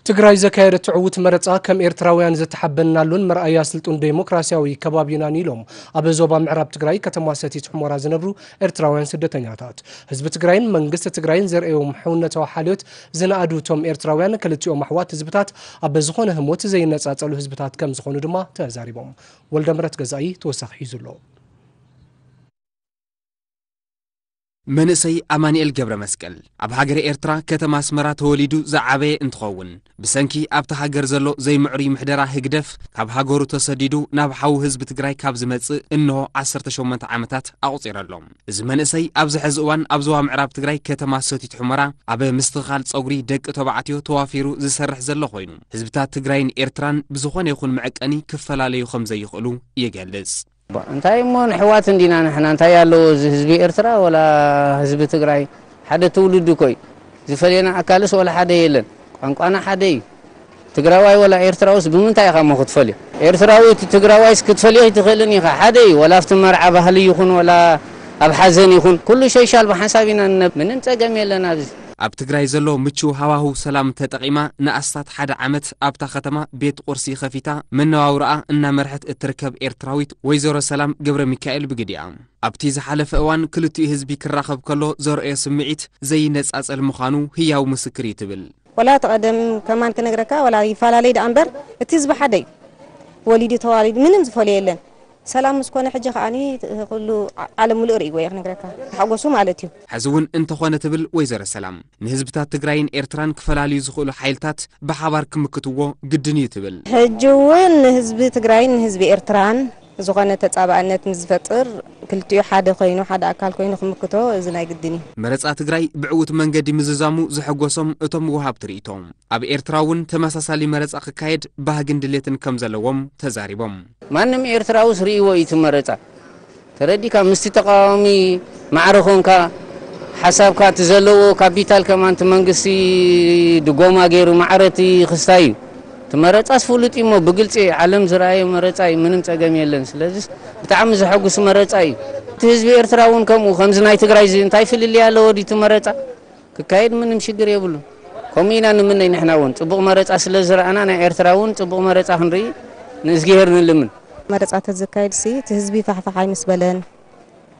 ትግራይ ዘካየደቶ ዕዉት መረፃ ከም ኤርትራውያን ዘተሓበንናሉን መርኣያ ስልጡን ዴሞክራሲያዊ ከባቢናን ኢሎም ኣብ ዞባ ምዕራብ ትግራይ ከተማ ሰቲት ሑመራ ዝነብሩ ኤርትራውያን ስደተኛታት። ህዝቢ ትግራይን መንግስቲ ትግራይን ዘርእዮም ሕውነታዊ ሓልዮት ዝነኣዱ እቶም ኤርትራውያን ክልቲኦም ኣሕዋት ህዝብታት ኣብ ዝኾነ ህሞት ዘይነፃፀሉ ህዝብታት ከም ዝኾኑ ድማ ተዛሪቦም። ወልደምረት ገዛኢ ተወሳኺ ሒዙ ኣሎ። መንእሰይ ኣማኑኤል ገብረ መስቀል ኣብ ሃገረ ኤርትራ ከተማ ኣስመራ ተወሊዱ ዝዓበየ እንትኸውን፣ ብሰንኪ ኣብታ ሃገር ዘሎ ዘይምዕሩይ ምሕደራ ህግደፍ ካብ ሃገሩ ተሰዲዱ ናብ ሓው ህዝቢ ትግራይ ካብ ዝመጽእ እንሆ ዓሰርተ ሸሞንተ ዓመታት ኣቑጺሩ ኣሎ። እዚ መንእሰይ ኣብዚ ሕዚ እዋን ኣብ ዞባ ምዕራብ ትግራይ ከተማ ሰቲት ሑመራ ኣብ ምስትኽኻል ጸጉሪ ደቂ ተባዕትዮ ተዋፊሩ ዝሰርሕ ዘሎ ኮይኑ፣ ህዝብታት ትግራይን ኤርትራን ብዝኾነ ይኹን መዐቀኒ ክፈላለዩ ከም ዘይኽእሉ ይገልጽ። እንታይ እሞ ንሕዋት እንዲና ንሕና፣ እንታይ ኣለዎ እዚ ህዝቢ ኤርትራ ወላ ህዝቢ ትግራይ? ሓደ ትውልዲ እኮ እዩ። ዝፈልየና ኣካልስ ወላ ሓደ የለን። ቋንቋና ሓደ እዩ። ትግራዋይ ወላ ኤርትራውስ ብምንታይ ኢኻ እሞ ክትፈልዮ? ኤርትራዊ እቲ ትግራዋይስ ክትፈልዮ ኣይትኽእልን ኢኻ። ሓደ እዩ። ወላ ኣብቲ መርዓ ባህሊ ይኹን ወላ ኣብ ሓዘን ይኹን ኩሉ ሸይሻል ብሓንሳብ ኢና ንነብ-፣ ምንም ጸገም የለን ኣብዚ። ኣብ ትግራይ ዘሎ ምቹው ሃዋህው ሰላም ተጠቒማ ንኣስታት ሓደ ዓመት ኣብታ ከተማ ቤት ቁርሲ ከፊታ መነባብሮኣ እናመርሐት እትርከብ ኤርትራዊት ወይዘሮ ሰላም ገብረ ሚካኤል ብግዲኣ፣ ኣብቲ ዝሓለፈ እዋን ክልቲኡ ህዝቢ ክራኸብ ከሎ ዘርእዮ ስምዒት ዘይነጻጸል ምዃኑ ህያው ምስክር እዩ ትብል። ወላ እቲ ቀደም ከማን ክነግረካ፣ ወላ ይፈላለይ ደኣ እምበር፣ እቲ ህዝቢ ሓደ እዩ። ወሊዱ ተዋሊዱ ምንም ዝፈልዮ የለን። ሰላም ምስ ኮነ ሕጂ ከኣኒ ኩሉ ዓ-፣ ዓለም ሙሉእ ርእይዎ እየ ክነግረካ። ተሓጎሱ ማለት እዩ። ሕዚ እውን እንተኾነ ትብል ወይዘሮ ሰላም፣ ንህዝብታት ትግራይን ኤርትራን ክፈላልዩ ዝኽእሉ ሓይልታት ብሓባር ክምክትዎ ግድን እዩ ትብል። ሕጂ እውን ንህዝቢ ትግራይን ንህዝቢ ኤርትራን ዝኾነ ተጻባእነት ምስ ዝፈጥር፣ ክልቲኡ ሓደ ኮይኑ፣ ሓደ ኣካል ኮይኑ ክምክቶ እዚ ናይ ግድን እዩ። መረጻ ትግራይ ብዕዉት መንገዲ ምዝዛሙ ዘሐጎሶም እቶም ወሃብቲ ርእይቶ፣ ኣብ ኤርትራ እውን ተመሳሳሊ መረጻ ክካየድ ባህግን ድሌትን ከም ዘለዎም ተዛሪቦም። ማንም ኤርትራውስ ርእይዎ እዩ እቲ መረጻ። ተረዲካ፣ ምስቲ ተቃዋሚ ማዕረ ኮንካ፣ ሓሳብካ እቲ ዘለዎ ካፒታል ከማን እቲ መንግስቲ ድጎማ ገይሩ ማዕረ እቲ ክስታይ እዩ። እቲ መረጻስ ፍሉጥ እዩ እሞ ብግልጺ ዓለም ዝረኣየ መረጻ እዩ፣ ምንም ጸገም የለን። ስለዚስ ብጣዕሚ ዘሐጉስ መረጻ እዩ። እቲ ህዝቢ ኤርትራ እውን ከምኡ፣ ከምዚ ናይ ትግራይ እዚ እንታይ ፍልልይ ኣለዎ ድዩ እቲ መረጻ? ክካየድ ምንም ሽግር የብሉን። ከምኡ ኢና ንምነይ ንሕና እውን። ጽቡቕ መረጻ ስለ ዝረኣና ናይ ኤርትራ እውን ጽቡቕ መረጻ ክንርኢ ንእዝግሄር ንልምን። መረጻ ተዝካየድሲ እቲ ህዝቢ ፋሕፋሕ ኣይምስ በለን።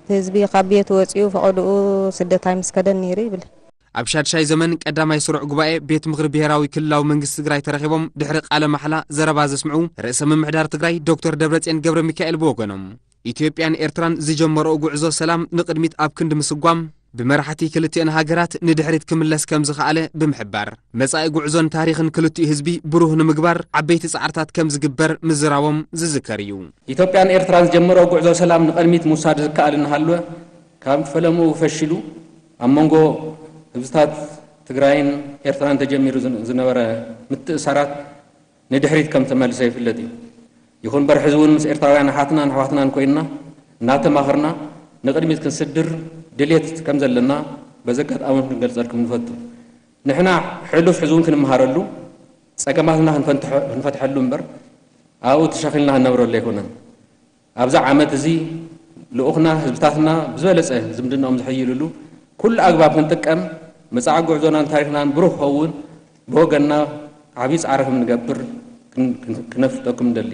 እቲ ህዝቢ ካብ ቤት ወጺኡ ፈቐድኡ ስደት ኣይምስ ከደን ነይሩ ይብል። ኣብ ሻድሻይ ዘመን ቀዳማይ ስሩዕ ጉባኤ ቤት ምኽሪ ብሄራዊ ክልላዊ መንግስቲ ትግራይ ተረኺቦም ድሕሪ ቃለ ማሕላ ዘረባ ዘስምዑ ርእሰ ምምሕዳር ትግራይ ዶክተር ደብረጽዮን ገብረ ሚካኤል ብወገኖም፣ ኢትዮጵያን ኤርትራን ዝጀመረኦ ጉዕዞ ሰላም ንቕድሚት ኣብ ክንዲ ምስጓም፣ ብመራሕቲ ክልቲአን ሃገራት ንድሕሪት ክምለስ ከም ዝኸኣለ ብምሕባር፣ መጻኢ ጉዕዞን ታሪኽን ክልቲኡ ህዝቢ ብሩህ ንምግባር ዓበይቲ ጻዕርታት ከም ዝግበር ምዝራቦም ዝዝከር እዩ። ኢትዮጵያን ኤርትራን ዝጀመረኦ ጉዕዞ ሰላም ንቐድሚት ምውሳድ ዝከኣል እናሃለወ፣ ካብ ፈለምኡ ፈሺሉ ኣብ መንጎ ህዝብታት ትግራይን ኤርትራን ተጀሚሩ ዝን-፣ ዝነበረ ምትእሳራት ንድሕሪት ከም ተመልሰ ይፍለጥ እዩ። ይኹን እምበር፣ ሕዚ እውን ምስ ኤርትራውያን ኣሓትናን ኣሕዋትናን ኮይንና እናተማኸርና ንቕድሚት ክንስድር ድሌት ከም ዘለና በዚ ኣጋጣሚ ክንገልጸልኩም ንፈቱ። ንሕና ሕሉፍ ሕዚ እውን ክንመሃረሉ፣ ጸገማትና ክንፈንትሐ-፣ ክንፈትሐሉ እምበር ኣብኡ ተሸኺልና ክንነብረሉ ኣይኮነን። ኣብዚ ዓመት እዚ ልኡኽና ህዝብታትና ብዝበለጸ ዝምድናኦም ዝሕይልሉ ኩሉ ኣግባብ ክንጥቀም፣ መጻኢ ጉዕዞናን ታሪኽናን ብሩህ ክኸውን ብወገንና ዓብዪ ጻዕሪ ከም ንገብር ክን-፣ ክን-፣ ክነፍልጠኩም ንደሊ።